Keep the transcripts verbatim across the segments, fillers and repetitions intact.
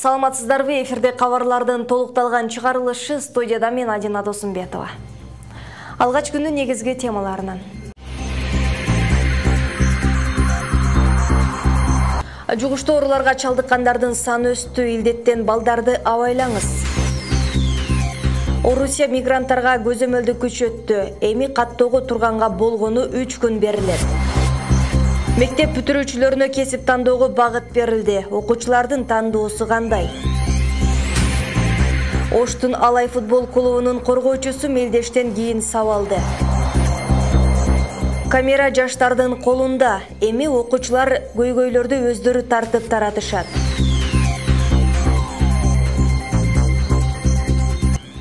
Саламатсыздарбы, эфирде кабарлардын толукталган чыгарылышы, студияда мен Адина Досумбетова. Алгач күндүн негизги темаларынан. Жугуштуу ооруларга чалдыккандардын саны өстү, илдеттен балдарды абайлаңыз. Орусия мигранттарга көзөмөлдү күчөттү, эми каттоого турганга болгону үч күн берилет. Мектеп бүтүрүүчүлөрүнө кесип тандоого багыт берилди. Окуучулардын тандоосу кандай? Оштун Алай футбол клубунун коргоочусу мелдештен кийин сабалды. Камера жаштардын колунда. Эми окуучулар көйгөйлөрдү өздөрү тартып таратышат.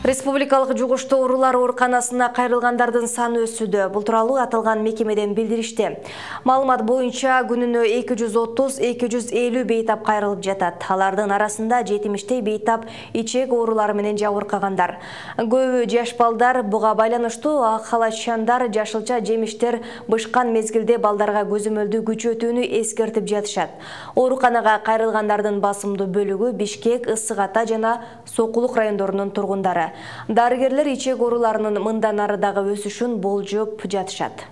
Республикалык жугуштуу оорулар ооруканасына кайрылгандардын саны өсүүдө. Бул тууралуу аталган мекемеден билдиришти. Маалымат боюнча күнүнө эки жүз отуз — эки жүз элүү бейтап кайрылып жатат. Алардын арасында жетимиштей бейтап ичек оорулары менен жабыркагандар. Көбү жаш балдар. Буга байланыштуу ак халачандар, жашылча жемиштер бышкан мезгилде балдарга көзөмөлдү күчөтүүнү эскертип жатышат. Ооруканага кайрылгандардын басымдуу бөлүгү Бишкек, Ысык Ата жана Сокулук райондорунун тургундары. Дарыгерлер ичек ооруларынын мындан ары дагы өсүшүн болжоп жатышат.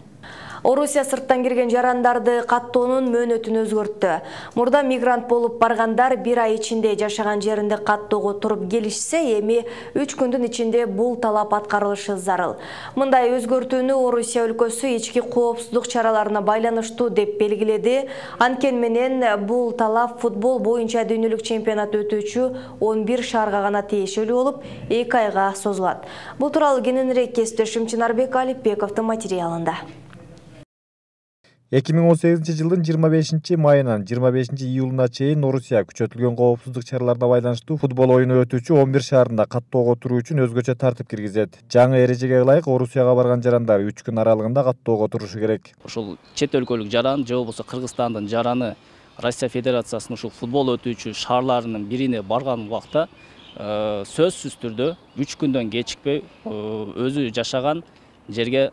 Орусия сырттан кирген жарандарды каттоонун мөөнөтүн өзгөрттү. Мурда мигрант болуп баргандар бир ай ичинде жашаган жеринде каттоого туруп келишсе, эми үч күндүн ичинде бул талап аткарылышы зарыл. Мындай өзгөртүүнү Орусия өлкөсү ички коопсуздук чараларына байланыштуу деп белгиледи. Анткени менен бул талап футбол боюнча дүйнөлүк чемпионат өтүүчү он бир шаарга гана тиешелүү болуп, эки айга созулат. Бул тууралуу кененирээк кесиптешим Чынарбек Алипбековдун материалында. эки миң он сегизинчи жылдын жыйырма бешинчи майынан жыйырма бешинчи июлуна чейин Орусия күчөтүлгөн коопсуздук чараларына байланыштуу футбол оюну өтүүчү он бир шаарында каттоого туруу үчүн өзгөчө тартип киргизет. Жаңы эрежеге ылайык Орусияга барган жарандар үч күн аралыгында каттоого турушу керек. Ошол чет өлкөлүк жаран же болбосо Кыргызстандын жараны Россия Федерациясынын ушул футбол өтүүчү шаарларынын бирине барган убакта сөзсүз түрдө үч күндөн кечикпей өзү жашаган жерге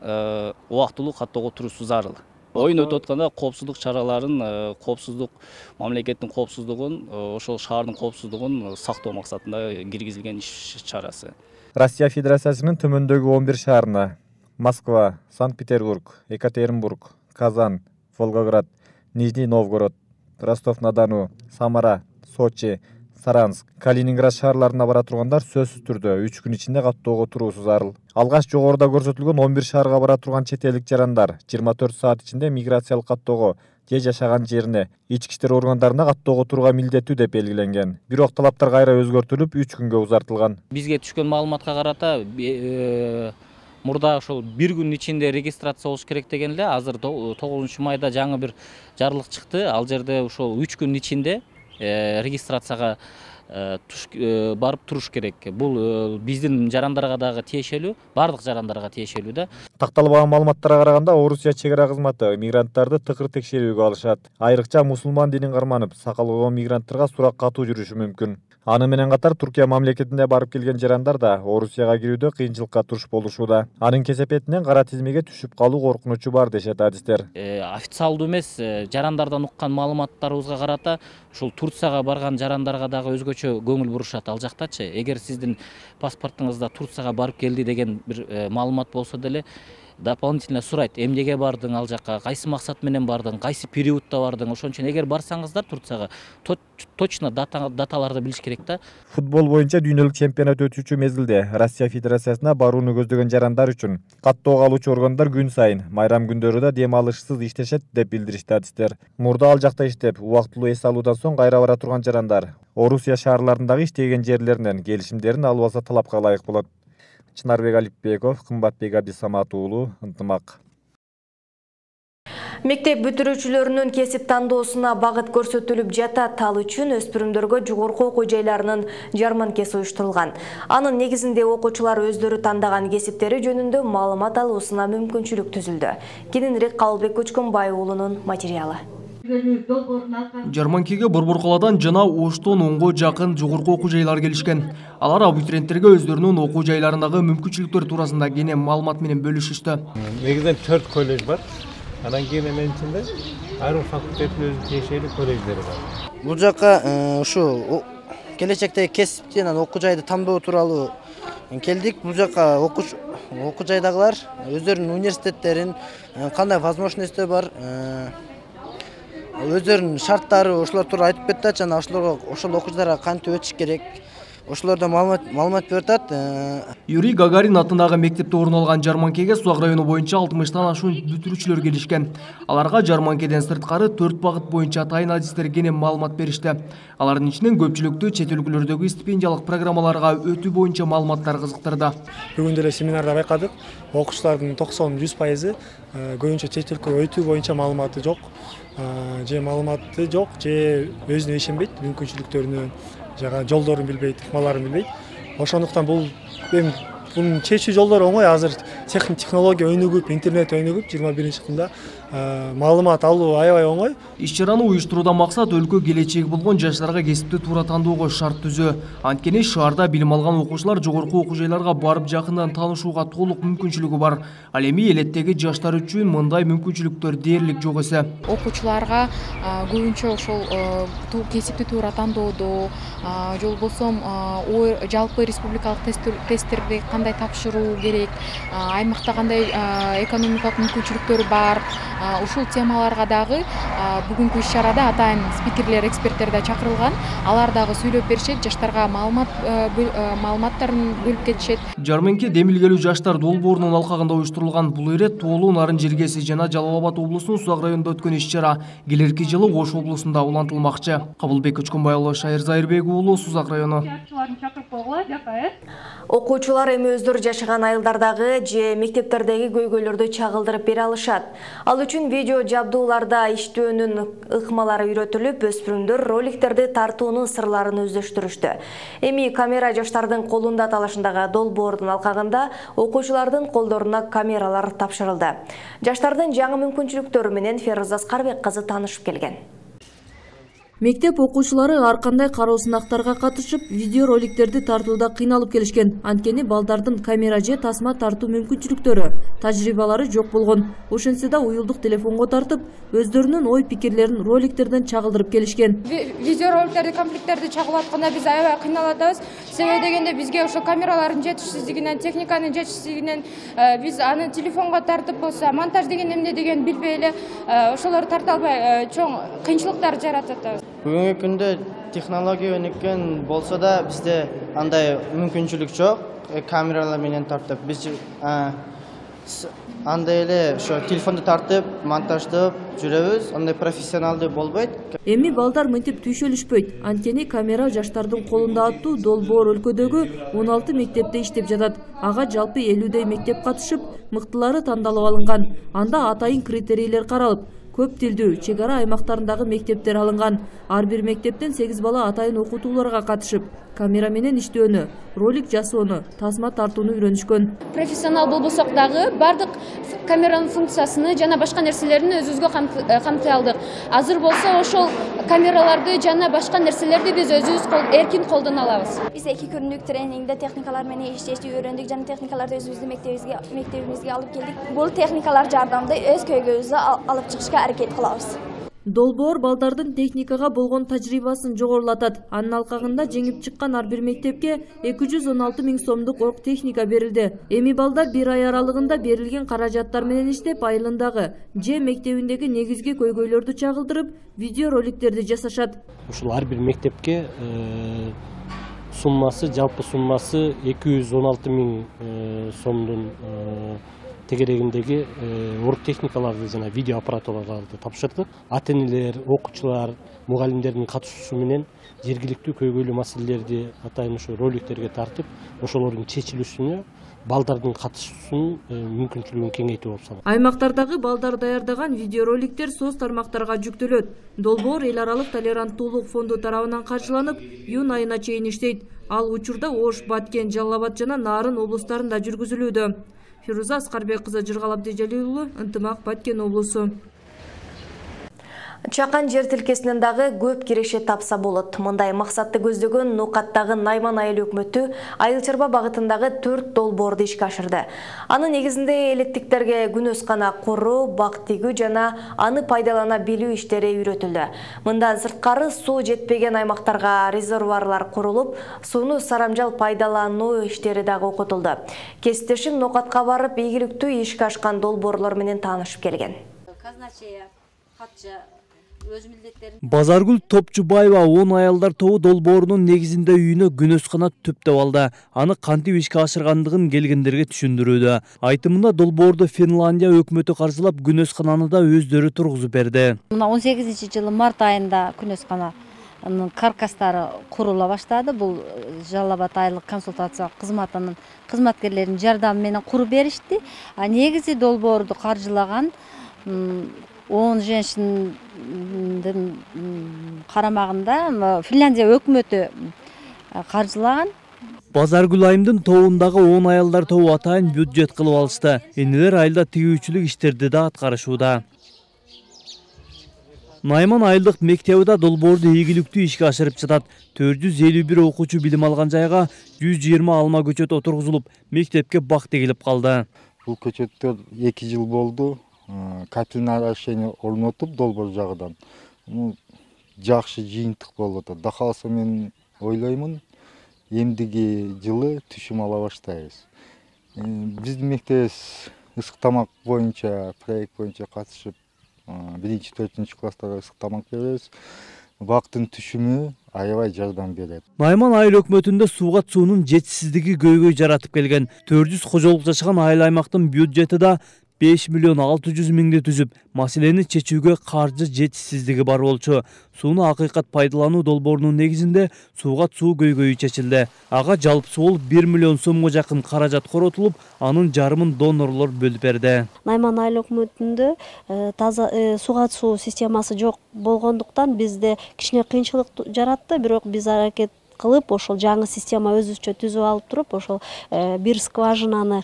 убактылуу каттоого туруусу зарыл. Оюн өтүп атканда коопсуздук чараларын, коопсуздук, мамлекеттин коопсуздугун, ошол шаардын коопсуздугун сактоо максатында киргизилген иш чарасы. Россия Федерациясынын төмөндөгү он бир шаарына Москва, Санкт-Петербург, Екатеринбург, Казан, Волгоград, Нижний Новгород, Ростов-на-Дону, Самара, Сочи, Саранск, Калининград шаарларына бара тургандар сөзсүз түрдө үч күн ичинде каттоого туруусу зарыл. Алгач жогоруда көрсөтүлгөн он бир шаарга бара турган чет элдик жарандар жыйырма төрт саат ичинде миграциялык каттоого же жашаган жерине, ички иштер органдарына каттоого турууга милдеттүү деп белгиленген. Бирок талаптар кайра өзгөртүлүп үч күнгө узартылган. Бизге түшкөн маалыматка карата мурда ошол бир күн ичинде регистрация болуш керек деген эле. Азыр тогузунчу майда жаңы бир жарлык чыкты. Ал жерде ошол үч күн ичинде регистрацияга барып туруш керек. Бул биздин жарандарга дагы тиешелүү, бардык жарандарга тиешелүү да. Такталбаган маалыматтарга караганда Орусия чек ара кызматы мигранттарды тыкыр текшерүүгө алышат. Айрыкча мусулман динин карманып, сакал койгон мигранттарга сурак катуу жүрүшү мүмкүн. Аны менен катар Туркия мамлекетине барып келген жарандар да Орусияга кирүүдө кыйынчылыкка туш болушууда. Анын кесепетинен кара тизмеге түшүп калуу коркунучу бар дешет адистер. Официалдуу эмес жарандардан уккан маалыматтарыбызга карата ушул Турцияга барган жарандарга дагы өзгөчө көңүл бурушат ал жактачы. Эгер сиздин паспортуңузда Турцияга барып келди деген бир маалымат болсо деле дополнительно сурайт. Эмнеге бардың ал жакка, кайсы максат менен бардың, кайсы периодта бардың. Ошон үчүн эгер барсаңыздар Турцияга точно даталарды билиш керек да. Футбол боюнча дүйнөлүк чемпионат өтүүчү мезгилде Россия Федерациясына барууну көздөгөн жарандар үчүн каттоого алуучу органдар күн сайын майрам күндөрү да дем алышсыз иштешет деп билдиришти адистер. Мурда ал жакта иштеп, убактылуу эс алуудан соң кайра бара турган жарандар Орусия шаарларындагы иштеген жерлеринен келишимдерин алып алса талапка ылайык болот. Чынарбек Алипбеков, Кымбатбек Абдисамат уулу, Ынтымак. Мектеп бүтүрүүчүлөрүнүн кесип тандоосуна багыт көрсөтүлүп жатат. Ал үчүн өспүрүмдөргө жогорку окуу жайларынын жарманкеси уюштурулган. Анын негизинде окуучулар өздөрү тандаган кесиптери жөнүндө маалымат алуусуна мүмкүнчүлүк түзүлдү. Кененирээк Калыбек Көчкөнбай уулунун материалы. Жарманкеге Борбор калаадан жана Оштон онго жакын жогорку окуу жайлар келишкен. Алар абитуриенттерге өздөрүнүн окуу жайларындагы мүмкүнчүлүктөр туурасында кене маалымат менен бөлүшүштү. Негизинен төрт колледж бар. Анан кийин эменин ичинде айрым факультеттин өзүнүн тиешелүү колледждери бар. Бул жакка ушу келечектеги кесипти анан окуу жайды тандоо тууралуу келдик. Бул жака окуу жайдагылар өздөрүнүн университеттерин, кандай возможностьтер бар, өздөрүнүн шарттары ошолор тууралуу айтып берет, жана ошолорго ошол окуучуларга кантип өтүш керек, ошолордон маалымат берип атат. Юрий Гагарин атындагы мектепте орун алган жарманкеге Суз Ак району боюнча алтымыштан ашуун бүтүрүүчүлөр келишкен. Аларга жарманкеден сырткары төрт багыт боюнча атайын адистер кенен маалымат беришти. Алардын ичинен көпчүлүктү чет өлкөлөрдөгү стипендиялык программаларга өтүү боюнча маалыматтар кызыктырды. Бүгүн деле семинарда байкадык, окуучулардын токсон жүз пайызы көбүнчө чет өлкөгө өтүү боюнча маалыматы жок, же маалыматы жок, же өзүнө ишенбейт, мүмкүнчүлүктөрүнө, жага жолдорун билбейт, ыкмаларын билбейт. Ошондуктан бул эми бунун чечүү жолдору оңой. Азыр технология өнүгүп, интернет өнүгүп, жыйырма биринчи кылымда маалымат алуу аябай оңой. Иш-чараны уюштуруудан максат өлкө келечеги болгон жаштарга кесипти туура тандоого шарт түзөө. Анткени шаарда билим алган окуучулар жогорку окуу жайларга барып жакындан таанышууга толук мүмкүнчүлүгү бар. Ал эми элеттеги жаштар үчүн мындай мүмкүнчүлүктөр дээрлик жок эсе. Окуучуларга көбүнчө ошол кесипти туура тандоодо, же болбосо жалпы республикалык тесттерди кандай тапшыруу керек, аймакта кандай экономикалык мүмкүнчүлүктөр бар, ушул темаларга дагы бүгүнкү иш-чарада атайын спикерлер, эксперттер да чакырылган. Алар дагы сүйлөп беришет, жаштарга маалымат маалыматтарын бөлүп кетишет. Жарманке демилгелүү жаштар долбоорунун алкагында уюштурулган бул ирет Тоолуу Нарын Жергеси жана Жалал Абад облусунун Суз Ак районунда өткөн иш-чара келерки жылы Ош облусунда улантылмакчы. Кабылбек Көчкөнбай уулу, Шайыр Зайырбек уулу, Суз Ак району. Окуучулар эми өздөрү жашаган айылдардагы же мектептердеги көйгөйлөрдү чагылдырып бере алышат. Ал үчүн видео жабдууларда иштөөнүн ыкмалары үйрөтүлүп, өспүрүмдөр роликтерди тартуунун сырларын өздөштүрүштү. Эми камера жаштардын колунда талашындагы долбоордун алкагында окуучулардын колдоруна камералар тапшырылды. Жаштардын жаңы мүмкүнчүлүктөрү менен Феруза Аскарбек кызы таанышып келген. Мектеп окуучулары ар кандай кароо сынактарга катышып, видео роликтерди тартууда кыйналып келишкен. Анткени балдардын камера же тасма тартуу мүмкүнчүлүктөрү, тажрыйбалары жок болгон. Ошентсе да уюлдук телефонго тартып, өздөрүнүн ой пикирлерин роликтерден чагылдырып келишкен. Видео роликтерди, комплекттерди чагылып атканда биз аябай кыйналып атабыз. Себеби дегенде бизге ошо камералардын жетишсиздигинен, техниканын жетишсиздигинен биз аны телефонго тартып болсо, монтаж деген эмне деген билбей эле ошолорду тарта албай чоң кыйынчылыктар жаратып атабыз. Бүгүнкү күндө технология өнүккөн болсо да бизде андай мүмкүнчүлүк жок. Камералар менен тартып, биз андай эле ошо телефонду тартып, монтаждап жүрөбүз. Андай профессионалдуу болбойт. Эми балдар мынтип түйшөлүшпөйт. Анткени камера жаштардын колунда аттуу долбоор өлкөдөгү он алты мектепте иштеп жатат. Ага жалпы элүүдөй мектеп катышып, мыктылары тандалып алынган. Анда атайын критерийлер каралып, көп тилдүү чек ара аймактарындагы мектептер алынган. Ар бир мектептен сегиз бала атайын окутууларга катышып, камера менен иштөөнү, ролик жасоону, тасма тартууну үйрөнүшкөн. Профессионал болбосок дагы бардык камеранын функциясын жана башка нерселерин өзүбүзгө камтый алдык. Азыр болсо ошол камераларды жана башка нерселерди биз өзүбүз эркин колдоно алабыз. Биз эки күндүк тренингде техникалар менен иштешти үйрөндүк жана техникаларды өзүбүздүн мектебибизге мектебибизге алып келдик. Бул техникалар жардамында өз көйгөйүбүздү алып чыгышка аракет кылабыз. Долбоор балдардын техникага болгон тажрыйбасын жогорулатат. Анын алкагында жеңип чыккан ар бир мектепке эки жүз он алты миң сомдук орг техника берилди. Эми балдар бир ай аралыгында берилген каражаттар менен иштеп, айылындагы же мектебиндеги негизги көйгөйлөрдү чагылдырып, видео роликтерди жасашат. Ушул ар бир мектепке суммасы, жалпы суммасы эки жүз он алты миң сомдун тегерегиндеги орг техникаларды жана видео аппаратураларды тапшырдык. Ата-энелер, окуучулар, мугалимдердин катышуусу менен жергиликтүү көйгөйлүү маселелерди атайын ошо роликтерге тартып, ошолордун чечилүүсүнө балдардын катышуусунун мүмкүнчүлүгүн кеңейтүү болуп саналат. Аймактардагы балдар даярдаган видео роликтер соц тармактарга жүктөлөт. Долбоор эл аралык толеранттуулук фонду тарабынан каржыланып, июнь айына чейин иштейт. Ал учурда Ош, Баткен, Жалал Абад жана Нарын облустарында жүргүзүлүүдө. Феруза Аскарбек кызы, Жыргал Абдижалил уулу, Ынтымак, Баткен облусу. Чакан жер тилкесинен дагы көп киреше тапса болот. Мындай максатты көздөгөн Нокаттагы Найман айыл өкмөтү айыл чарба багытындагы төрт долбоорду ишке ашырды. Анын негизинде электиктерге күнөз гана куруу, бак тигүү жана аны пайдалана билүү иштери үйрөтүлдү. Мындан сырткары суу жетпеген аймактарга резервуарлар курулуп, сууну сарамжал пайдалануу иштери дагы окутулду. Кесиптешим Нокатка барып, ийгиликтүү ишке ашкан долбоорлор менен таанышып келген. Базаргүл Топчубаева он аялдар тобу долбоорунун негизинде үйүнө күнөз канат түптеп алды. Аны кантип ишке ашыргандыгын келгендерге түшүндүрүүдө. Айтымында долбоорду Финляндия өкмөтү каржылап, күнөз кананы да өздөрү тургузуп берди. Мына он сегизинчи жылы март айында күнөз кананын каркастары курула баштады. Бул Жалал Абад айылдык консультациялык кызматынын кызматкерлеринин жардамы менен куруп беришти. А негизи долбоорду каржылаган он женщиндин карамагында Финляндия өкмөтү каржылаган. Базаргүл айымдын тобундагы он аялдар тобу атайын бюджет кылып алышты. Энелер айылда тигүүчүлүк иштерди да аткарышууда. Найман айылдык мектебида долбоорду ийгиликтүү ишке ашырып жатат. төрт жүз элүү бир окуучу билим алган жайга жүз жыйырма алма көчөт отургузулуп, мектепке бак тегилип калды. Бул көчөттөр эки жыл болду. Капитальный решение орнотуп долбоор жагынан. Жакшы жыйынтык болуп атат. Да калса мен ойлоймун, эмдиги жылы түшүм ала баштайбыз. Биздин мектебибиз ысык тамак боюнча, проект боюнча катышып, биринчи төртүнчү класстарга ысык тамак беребиз. Бактын түшүмү аябай жардам берет. Найман айыл өкмөтүндө суугат суунун жетишсиздиги көйгөй жаратып келген. төрт жүз кожолук жашаган айыл аймактын бюджети да беш миллион алты жүз миңди түзүп, маселени чечүүгө каржы жетишсиздиги бар болчу. Сууну акыйкат пайдалануу долбоорунун негизинде суугат суу көйгөйү чечилди. Ага жалпысы болуп бир миллион сомго жакын каражат коротулуп, анын жарымын донорлор бөлүп берди. Найман айыл өкмөтүндө таза суугат суу системасы жок болгондуктан бизде кичине кыйынчылык жаратты, бирок биз аракет кылып, ошол жаңы система өзүбүзчө түзүп алып туруп, ошол бир скважинаны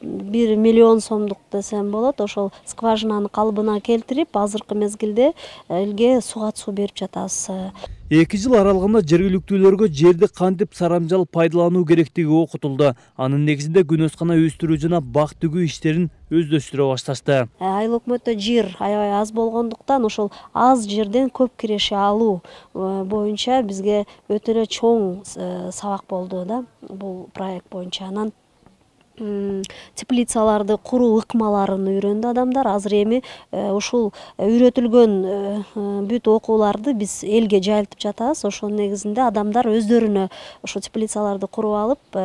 бир миллион сомдук десем болот, ошол скважинаны калыбына келтирип, азыркы мезгилде элге суугат суу берип жатабыз. эки жыл аралыгында жергиликтүүлөргө жерди кантип сарамжал пайдалануу керектиги окутулду. Анын негизинде күнөз кана өстүрүү жана бак тигүү иштерин өздөштүрө башташты. Айыл өкмөттө жер аябай аз болгондуктан, ошол аз жерден көп киреше алуу боюнча бизге өтө эле чоң сабак болду да, бул проект боюнча. Анан теплицаларды куруу ыкмаларын үйрөндү адамдар. Азыр эми ушул үйрөтүлгөн бүт окууларды биз элге жайылтып жатабыз. Ошол негизинде адамдар өздөрүнө ошол теплицаларды куруп алып,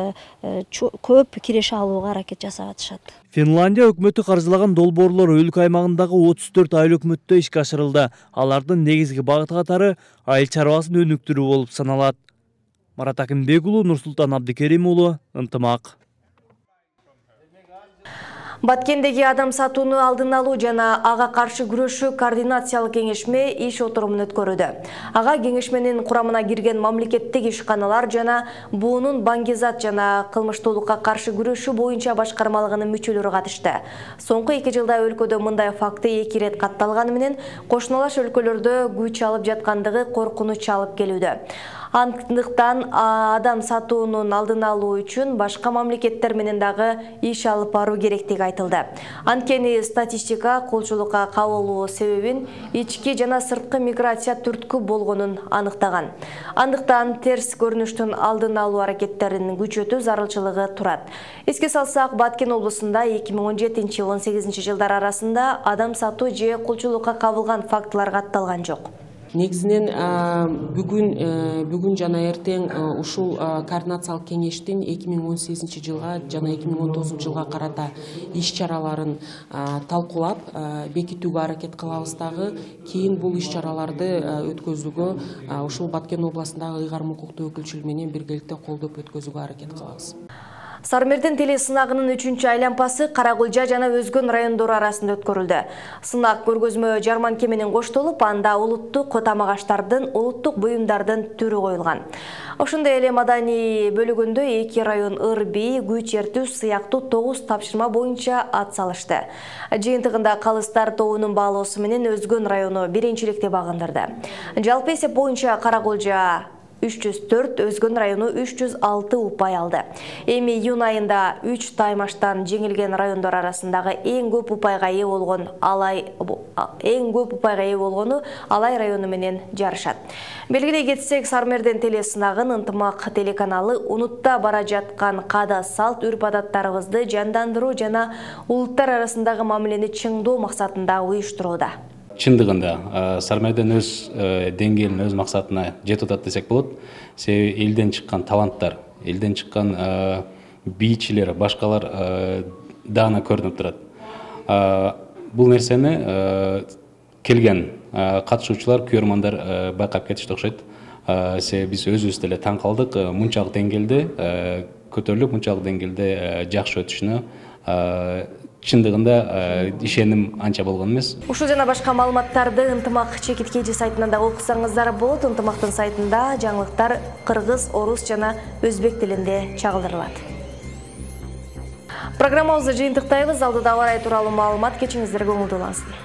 көп киреше алууга аракет жасап атышат. Финляндия өкмөтү каржылаган долбоорлор өлкө аймагындагы отуз төрт айыл өкмөттө ишке ашырылды. Алардын негизги багыты катары айыл чарбасын өнүктүрүү болуп саналат. Марат Акимбек уулу, Нурсултан Абдикерим уулу, Ынтымак. Баткендеги адам сатууну алдын алуу жана ага каршы күрөшүү координациялык кеңешме иш отурумун өткөрүүдө. Ага кеңешменин курамына кирген мамлекеттик ишканалар жана буунун баңгизат жана кылмыштуулукка каршы күрөшүү боюнча башкармалыгынын мүчөлөрү катышты. Соңку эки жылда өлкөдө мындай факты эки ирет катталганы менен кошуналаш өлкөлөрдө күч алып жаткандыгы коркунуч алып келүүдө. Андыктан адам сатуунун алдын алуу үчүн башка мамлекеттер менен дагы иш алып баруу керектиги айтылды. Анткени статистика кулчулукка кабылуу себебин ички жана сырткы миграция түрткү болгонун аныктаган. Андыктан терс көрүнүштүн алдын алуу аракеттерин күчөтүү зарылчылыгы турат. Эске салсак, Баткен облусунда эки миң он жетинчи — он сегизинчи жылдар арасында адам сатуу же кулчулукка кабылган фактылар катталган жок. Негизинен бүгүн бүгүн жана эртең ушул координациялык кеңештин эки миң он сегизинчи жылга жана эки миң он тогузунчу жылга карата иш чараларын талкуулап бекитүүгө аракет кылабыз дагы. Кийин бул иш чараларды өткөзүүгө ушул Баткен областындагы ыйгарым укуктуу өкүлчүлүгү менен биргеликте колдоп өткөзүүгө аракет кылабыз. Сармердин теле сынагынын үчүнчү айлампасы Каракулжа жана Өзгөн райондору арасында өткөрүлдү. Сынак көргөзмө жарманке менен коштолуп, анда улуттук тамак-аштардын, улуттук буюмдардын түрү коюлган. Ошондой эле маданий бөлүгүндө эки район ыр-бий, күч эртүү сыяктуу тогуз тапшырма боюнча ат салышты. Жыйынтыгында Калыстар тобунун баалоосу менен Өзгөн району биринчиликти багындырды. Жалпы эсеп боюнча Каракулжа үч жүз төрт, Өзгөн району үч жүз алты упай алды. Эми июнь айында үч таймаштан жеңилген райондор арасындагы эң көп упайга ээ болгон Алай эң көп упайга ээ болгону Алай району менен жарышат. Белгилей кетсек, Сармердин теле сынагын Ынтымак телеканалы унутта бара жаткан каада салт үрп-адаттарыбызды жандандыруу жана улуттар арасындагы мамилени чыңдоо максатында уюштурууда. Чындыгында Сармердин өз деңгээлин, өз максатына жетип атат десек болот. Себеби элден чыккан таланттар, элден чыккан бийчилер, башкалар даана көрүнүп турат. Бул нерсени келген катышуучулар, көрөрмандар байкап кетишти окшойт. Себеби биз өзүбүз деле таң калдык, мынчалык деңгээлде көтөрүлүп, мынчалык деңгээлде жакшы өтүшүнө чындыгында ишеним анча болгон эмес. Ушул жана башка маалыматтарды Ынтымак чекиткейчи сайтынан да окусаңыздар болот. Ынтымактын сайтында жаңылыктар кыргыз, орус жана өзбек тилинде чагылдырылат. Программабызды жыйынтыктайбыз. Алдыда ауа райы тууралуу маалымат, кечиңиздер көңүлдүү улансын.